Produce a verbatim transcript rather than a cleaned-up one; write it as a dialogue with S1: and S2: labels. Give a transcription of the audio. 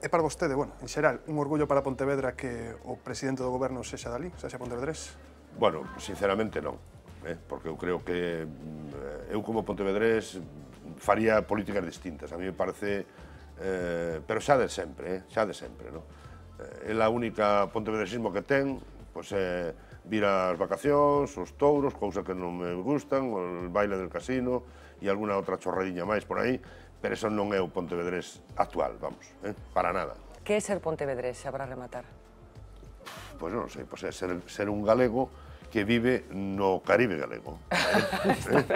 S1: É para vostede, bueno, en xeral, un orgullo para Pontevedra que o presidente do goberno sexa dali, sexa pontevedrés?
S2: Bueno, sinceramente non, eh? porque eu creo que eu como pontevedrés faría políticas distintas. A mí me parece, eh, pero xa de sempre, eh? xa de sempre, no? É a única pontevedresismo que ten, pois é vir ás vacacións, os touros, cousa que non me gustan, o baile del casino e alguna outra chorradiña máis por aí, pero eso non é o pontevedrés actual, vamos, eh? para nada.
S3: Que é ser pontevedrés, xa para rematar?
S2: Pois non sei, pois é ser, ser un galego que vive no Caribe galego. Eh?